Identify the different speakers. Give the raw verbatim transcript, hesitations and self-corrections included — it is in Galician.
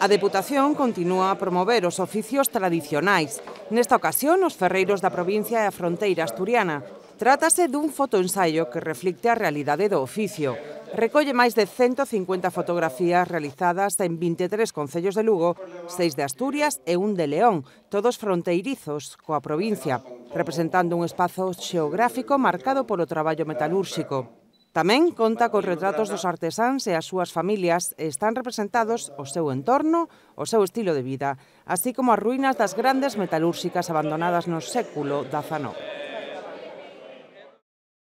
Speaker 1: A Deputación continúa a promover os oficios tradicionais. Nesta ocasión, os ferreiros da provincia e a fronteira asturiana. Trátase dun fotoensaio que reflicte a realidade do oficio. Recolle máis de cento cincuenta fotografías realizadas en vinte e tres concellos de Lugo, seis de Asturias e un de León, todos fronteirizos coa provincia, representando un espazo xeográfico marcado polo traballo metalúrxico. Tamén conta cos retratos dos artesáns e as súas familias e están representados o seu entorno, o seu estilo de vida, así como as ruínas das grandes metalúrxicas abandonadas no século dezanove.